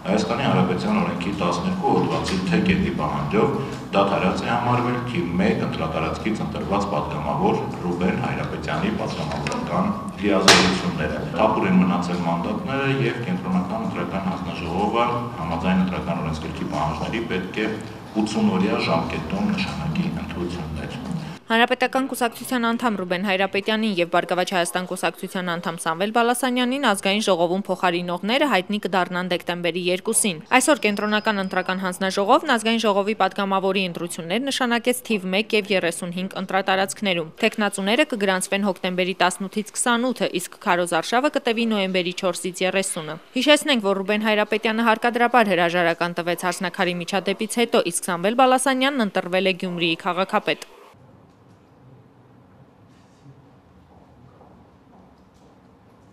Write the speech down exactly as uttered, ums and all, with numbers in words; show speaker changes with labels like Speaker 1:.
Speaker 1: Հայաստանի Հանրապետության օրենքի տասներկու հոդվածի թե կետի պահանջով դադարած է համարվել թիվ մեկ ընտրատարածքից ընտրված պատգամավոր Ռուբեն Հայրապետյանի պատգամավորական լիազորությունները։ Թափուր են մնացել մանդատները եւ կենտրոնական ընտրական հանձնաժողովը համաձայն ընտրական օրենսգրքի պահանջների պետք է ութսուն օրյա ժամկետում նշանակի ընտրություններ։
Speaker 2: Հանրապետական կուսակցության անդամ Ռուբեն Հայրապետյանին եւ Բարգավաճ Հայաստան կուսակցության անդամ Սամվել Բալասանյանին ազգային ժողովում փոխարինողները հայտնի կդառնան դեկտեմբերի երկուսին։ Այսօր կենտրոնական ընտրական հանձնաժողովն ազգային ժողովի պատգամավորի ընտրություններ նշանակեց թիվ մեկ եւ երեսունհինգ ընտրատարածքներում։ Տեխնացուները կգրանցվեն հոկտեմբերի տասնութից քսանութը, իսկ քարոզ արշավը կտևի նոյեմբերի չորսից երեսունը։ Հիշեցնենք, որ Ռուբեն Հայրապետյանը հարկադրաբար հրաժարական տվեց հարսնաքարի միջադեպից հետո, իսկ Սամվել Բալասանյանն ընտրվել է Գյումրիի քաղաքապետ։